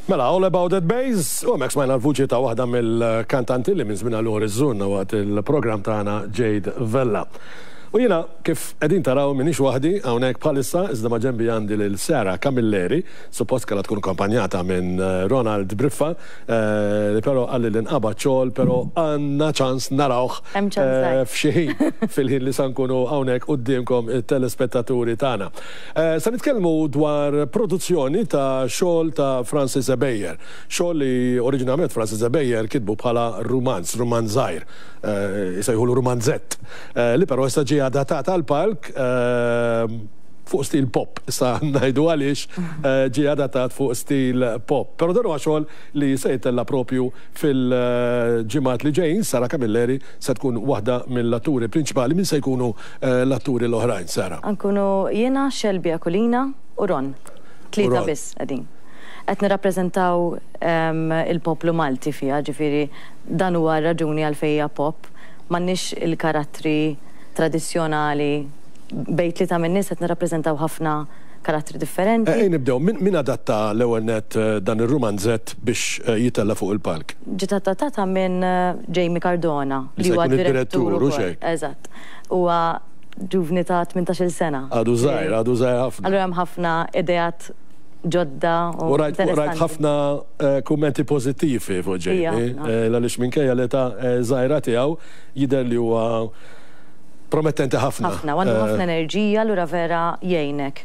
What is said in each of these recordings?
Mela, All About That Bass, u hemmhekk smajna l-vuċi ta' waħda mill-kantanti li minn żmien għal ieħor iżżurna waqt il-programm tagħna Jade Vella. U jiena kif qegħdin taraw m'iniex waħdi hawnhekk bħalissa iżda ma' ġenbi għandi lil Sarah Camilleri, suppost kellha tkun akkompanjata minn Ronald Briffa li però qalli li nqabad xogħol però għandna ċans narawh f'xi ħin fil-ħin li sa nkunu hawnhekk quddiemkom it-telespettaturi tagħna. Se nitkellmu dwar produzzjoni ta' xogħol ta' Francis Ebejer. Xogħol li oriġinarjament Francis Ebejer kitbu bħala rumanz, rumanz żgħir, isejħulu rumanzett, li però issa ġie adattat għall-palk fuq stil pop. Issa ngħidu għaliex ġie adattat fuq stil pop. Però dan huwa xogħol li se jittella' propju fil-ġimgħat li ġejjin. Sarah Camilleri se tkun waħda mill-atturi prinċipali. Min se jkunu l-atturi l-oħrajn, Sarah? Nkunu jiena, Shelby Aquilina u Ron. Tlieta biss qegħdin. Qed nirrappreżentaw il-poplu Malti fiha, ġifieri dan huwa r-raġuni għalfejn hija pop. M'għandniex il-karattri tradizzjonali, bejn tlieta min-nies qed nirrappreżentaw ħafna karattri differenti. Ejja nibdew, min adatta l-ewwel nett dan ir-rumanzett biex jitella' fuq il-palk? Ġiet adattata minn Jamie Cardona, li huwa d-direttur ukoll. Eżatt. Huwa ġuvni ta' 18-il sena. Għadu żgħir, għadu żgħir ħafna. Allura hemm ħafna ideat ġodda u interessanti. U rajt ħafna kummenti pożittivi fuq Jamie, għaliex minkejja l-età żgħira tiegħu jidher li huwa promettenti ħafna. Ħafna, u għandu ħafna enerġija allura vera jgħinek,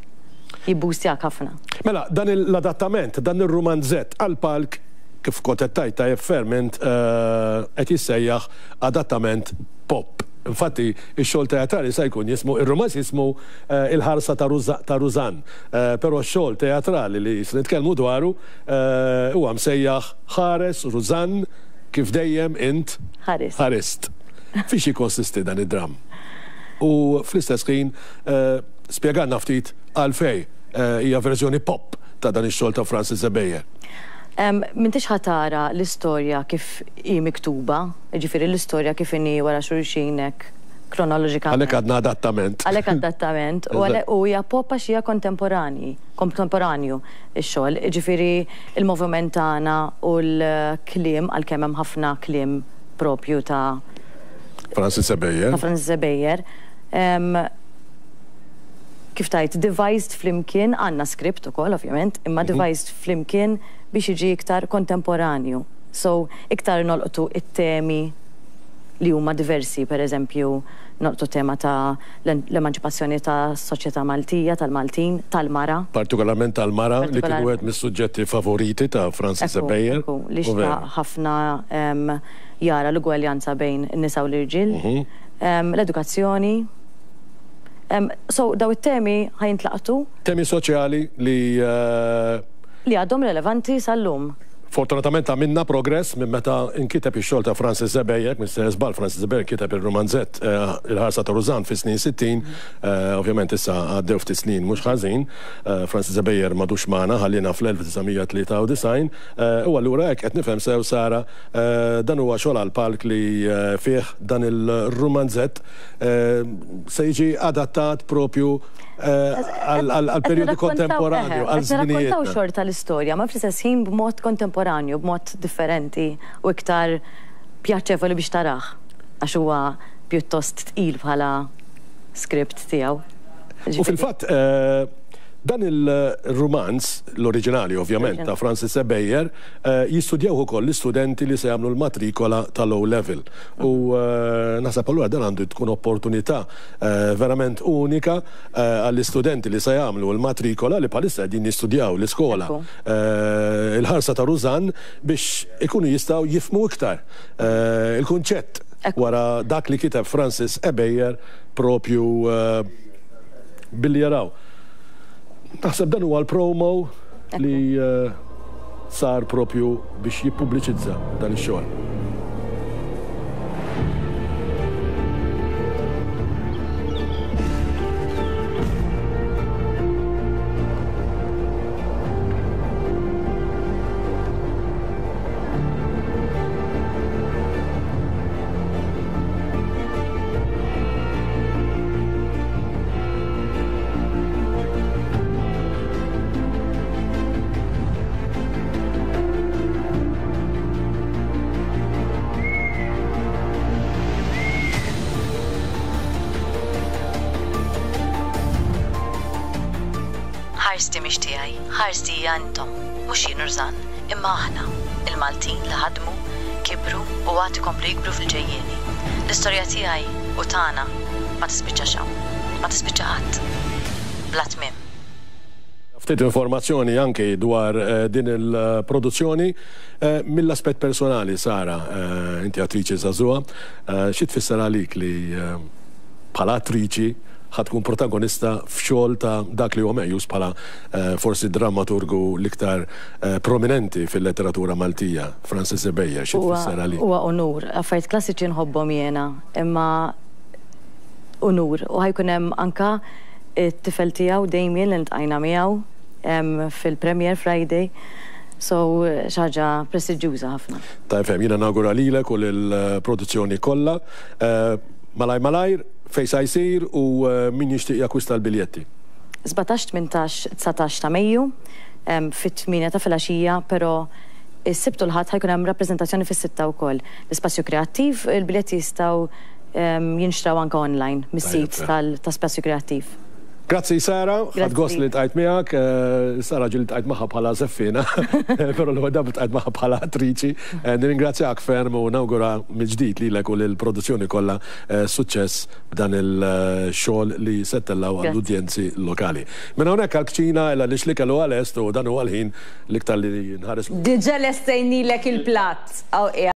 jibboostjak ħafna. Mela, dan l-adattament, dan ir-rumanzett għall-palk, kif kont qed tgħid tajjeb ferm int, qed jissejjaħ adattament pop. Infatti, ix-xogħol teatrali sa jkun jismu, ir-rumanz jismu Il-ħarsa ta' Rużann, però x-xogħol teatrali li se nitkellmu dwaru huwa msejjaħ Ħares Rużann kif dejjem int ħarist. Fiex jikkonsisti dan id-dramm? U fl-istess ħin spjegalna ftit għalfejn hija verżjoni pop ta' dan ix-xogħol ta' Francis Ebejer. M'intix ħa tara l-istorja kif hi miktuba, jiġifieri l-istorja kif inhi wara xulxin hekk kronoloġikament. Għalhekk għadna adattament. Għalhekk adattament u għalhekk u hija pop għax hija kontemporanji, kontemporanju x-xogħol, jiġifieri l-moviment tagħna u l-kliem għalkemm hemm ħafna kliem propju ta' Francis Ebejer. Ta' Francis Ebejer. Kif tgħid, devised flimkien, għandna script ukoll ovvjament, imma devised flimkien biex jiġi iktar kontemporanju. So, iktar nolqtu t-temi li huma diversi, per eżempju, nolqtu t-tema ta' l-emanċipazzjoni tas-soċjetà Maltija, tal-Maltin, tal-mara. Partikolarment tal-mara, li kien wieħed mis-suġġetti favoriti ta' Francis Ebejer. Ekku, ekku, li xtaq ħafna jara l-ugwaljanza bejn in-nisa u l-irġiel. L-edukazzjoni. So, dawn it-temi ħa jintlaqtu. Temi soċjali li. Li għadhom relevanti sal-lum. Fortunatament għamilna progress minn meta nkiteb ix-xogħol ta' Francis Ebejer, minn sejjer żball Francis Ebejer kiteb ir-rumanzett Il-Ħarsa ta' Rużann fis-snin 60, ovvjament issa għaddew ftit snin mhux ħażin, Francis Ebejer m'għadux magħna, ħalliena fl-1993, u allura hekk qed nifhem sew Sara, dan huwa xogħol għall-palk li fih dan il-rumanzett se jiġi adattat propju għall-perjodu kontemporanju, għal żminijietna. Qed nirrakkontaw xorta l-istorja, ma fl-istess ħin b'mod kontemporanju, b'mod differenti u iktar pjaċevoli biex tarah, għax huwa pjuttost tqil bħala script tiegħu. U fil-fatt, dan il-rumanz, l-oriġinali ovvjament, ta' Francis Ebejer, jistudjawh ukoll l-istudenti li se jagħmlu l-matrikola tal-O Level. U naħseb allura dan għandu tkun opportunità verament unika għall-istudenti li se jagħmlu l-matrikola li bħalissa qegħdin jistudjaw l-iskola Il-Ħarsa ta' Rużann biex ikunu jistgħu jifhmu iktar il-kunċett wara dak li kiteb Francis Ebejer propju billi jaraw. Naħseb dan huwa l-promo li sar propju biex jippubbliċizza dan ix-xogħol. Ħarsti mhix tiegħi, ħarsti hija intom, mhux jien u Rżan, imma aħna, il-Maltin li ħadmu, kibru u għad ikomplu jikbru fil-ġejjieni. L-istorja tiegħi u tagħna ma tispiċċax hawn. Ma tispiċċa qatt. Bla tmiem. Ftit informazzjoni anki dwar din il-produzzjoni mill-aspett personali, Sara, inti attriċi żagħżugħa, xi tfisser għalik li bħala attriċi ħa tkun protagonista f'xogħol ta' dak li huwa meqjus bħala forsi d-drammaturgu l-iktar prominenti fil-letteratura Maltija, Francis Ebejer, xi tfisser għalik? Huwa unur. Affarijiet klassiċi nħobbhom jiena, imma unur. U ħa jkun hemm anke t-tifel tiegħu Damien li ltqajna miegħu fil-premiere Friday. So xi ħaġa prestiġjuża ħafna. Tajjeb ferm. Jiena nawgura lilek u lill-produzzjoni kollha. Malajr malajr, fejn sa jsir u min jixtieq jakkwista l-biljetti? 17, 18, 19 ta' Mejju fit-tmienja ta' filgħaxija, però s-Sibt u l-Ħadd ħa jkun hemm rappreżentazzjoni fis-sitta wkoll. L-Ispazju Kreattiv, il-biljetti jistgħu jinxtraw anke online mis-sit ta' Spazju Kreattiv. Grazzi Sara, ħadt gost li ltqajt miegħek. Sara ġieli ltqajt magħha bħala żeffiena, però l-ewwel darba ltqajt magħha bħala attriċi. Nirringrazzjak ferm u nawgura mill-ġdid lilek u lill-produzzjoni kollha suċċess b'dan il-xogħol li se ttellgħu għall-udjenzi lokali. Minn hawnhekk għall-kċina il għaliex l-ikel huwa lest u dan huwa l-ħin l-iktar li nħares. Diġà lestejnilek il-platt.